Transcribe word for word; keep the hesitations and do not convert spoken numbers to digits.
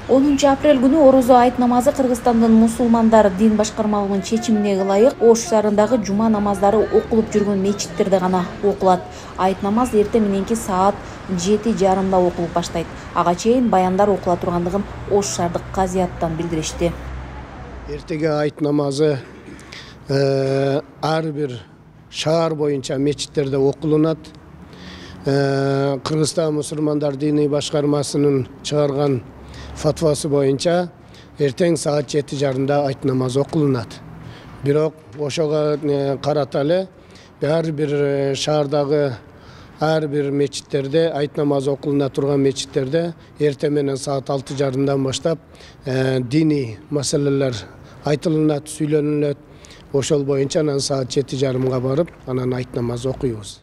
онунчу апрель күнү орозо айт намазы Кыргызстандын мусулмандар дин башкармалыгынын чечимине ылайык Ош шаарындагы жума намаздары окулуп жүргөн мечиттерде гана окулат. Айт намаз эртең мененки саат жети жарымда окулуп баштайт. Ага чейин баяндар окула тургандыгын Ош шаардык казыяттан билдиришти. Эртеге айт намазы ар бир шаар боюнча мечиттерде окулунат. Кыргызстан мусулмандар дини башкармасынын чыгарган фатвасы боюнча эртең саат жети жарымда айт намазы окулунат. Бирок ошого карата эле ар бир шаардагы ар бир мечиттерде айт намазы окулуна турган мечиттерде эртең менен саат алты жарымдан баштап диний маселелер айтылынат, сүйлөнүлөт. Ошол боюнча анан саат жети жарымга барып, анан айт намазы окуйбуз.